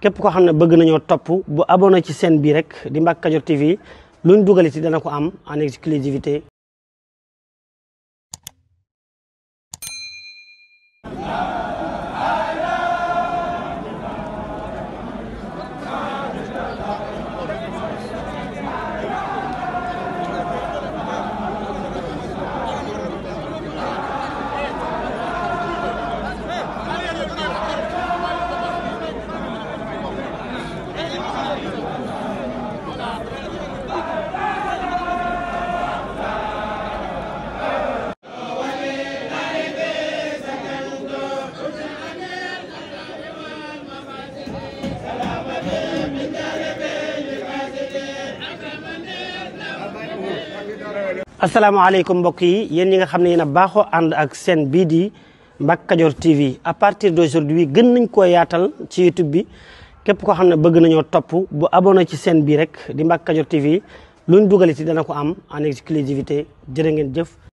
képp koo xam ne bëgg nañoo topp bu abonné ci chaîne bii rek di Mbacke Kadior TV luñ dugal ci dana ko am en exclusivité. asalaamaaleykum mbokk yi yéen ñi nga xam ne yéen a baaxoo ànd ak chaîne bii di Mbacke Kadior TV à partir d'aujourd'hui gën nañ koo yaatal ci YouTube bi képp koo xam ne bëgg nañoo topp bu abonné ci chaîne bii rek di Mbacke Kadior TV luñ dugal ci dana ko am en exclusivité jërë ngeen jëf.